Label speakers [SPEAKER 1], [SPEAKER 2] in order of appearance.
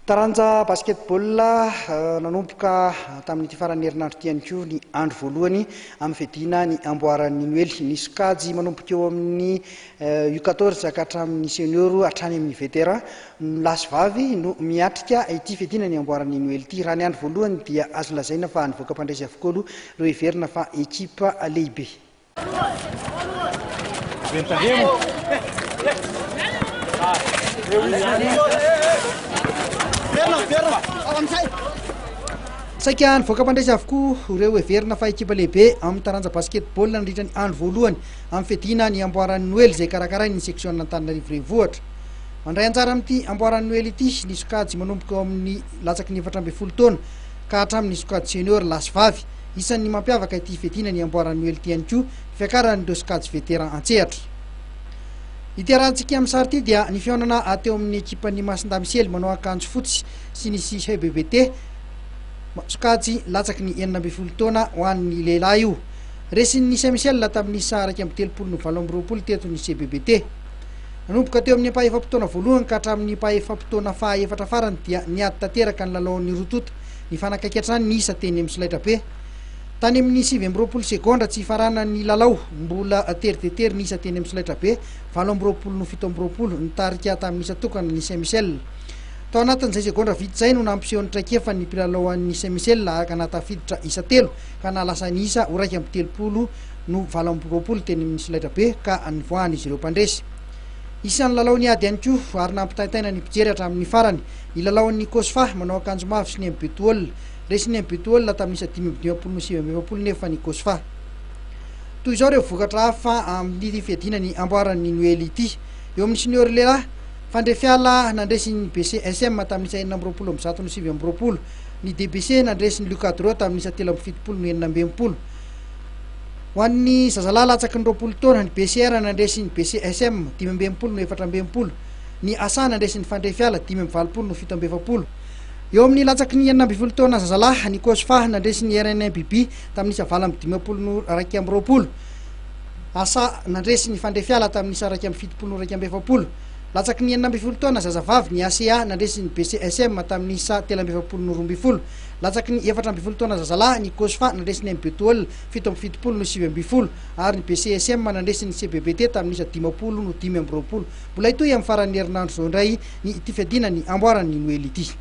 [SPEAKER 1] Taranja basketball, Nanomboka tamin'ity faran'ny herinandro ity ihany koa ny andro voalohany amin'ny fiadiana ny amboaran'ny Noely. Ny sokajy manomboka eo amin'ny U 14 ka hatramin'ny senior hatrany amin'ny vétéran, ny lahy sy vavy no miatrika ity fiadiana ny amboaran'ny Noely ity. Raha ny andro voalohany dia azo lazaina fa nivoaka mpandresy avokoa aloha ireo heverina fa ekipa lehibe. Saika nivoaka mpandresy avokoa ireo heverina fa ekipa lehibe amin'ny taranja basketball nandritra ny andro voalohany amin'ny fiadiana ny amboaran'ny Noely izay karakarain'ny seksiona Antananarivo Renivohitra. Mandray anjara amin'ity amboaran'ny Noely ity ny sokajy manomboka eo amin'ny latsaky ny 14 taona ka hatramin'ny sokajy senior lahy sy vavy. Isan'ny mampiavaka ity fiadiana ny amboaran'ny Noely ity ihany koa ny fiakaran'ireo sokajy vétéran an-tsehatra. Ity arahantsika amin'ny sary ity dia ny fihaonana teo amin'ny ekipan'ny Masindahy Misely manao akanjo fotsy sy ny CBBT sokajy latsaky ny 16 taona ho an'ny lehilahy io. Resin'ny Saint Michel tamin'ny isa 31 no 28 teto ny CBBT. Nanomboka teo amin'ny ampahefa-potoana voalohany ka hatramin'ny ampahefa-potoana faha-efatra farany dia niady tanteraka ny lalaon'ny roa tonta. Nifanakaiky hatrany ny isa teny amin'ny solaitrabe. Tany amin'ny 29 segondra tsy hifaranan'ny lalao, mbola tery dia tery ny isa teny amin'ny solaitrabe, 28 no 27, nitarika tamin'ny isa tokana ny Saint Michel. Tao anatin'izay segondra vitsy izay no nampiseho ny traikefany ny mpilalao an'ny Saint Michel ka nahatafiditra isa telo ka nahalasa ny isa ho 31 no 28 teny amin'ny solaitrabe ka nivoahan'izy ireo mpandresy. Isan'ny lalao niady ihany koa ary nampitaintaina ny mpijery hatramin'ny farany ny lalaon'ny Cosfa manao akanjo mavo sy ny MBTOL. Resin'ny MBTOL tamin'ny isa 55 no 49 nefa ny Cosfa. Toy izao ireo vokatra hafa amin'ity fiadiana ny amboaran'ny Noely ity. Eo amin'ny senior lehilahy, Fandrefiala nandresy ny BCSM tamin'ny isa 126 no 29. Ny DBC nandresy ny Lucadro tamin'ny isa 73 no 66. Ho an'ny zazalahy latsaky ny 20 taona, ny BCR nandresy ny BCSM, 65 no 64. Ny asa nandresy ny Fandrefiala, 85 no 47. Eo amin'ny latsaky ny 16 taona zazalahy, ny Cosfa nandresy ny RNMBB tamin'ny isa 58 no 21. Asa nandresy ny Fandrefiala tamin'ny isa 71 no 41. Latsaky ny 16 taona zazavavy, ny ACA nandresy ny BCSM tamin'ny isa 43 no 12. Latsaky ny 14 taona zazalahy, ny Cosfa nandresy ny MBTOL 77 no 19 ary ny BCSM nandresy ny CBBT tamin'ny isa 50 no 25. Mbola hitohy amin'ny faran'ny herinandro izao indray ny ity fiadiana ny amboaran'ny Noely ity.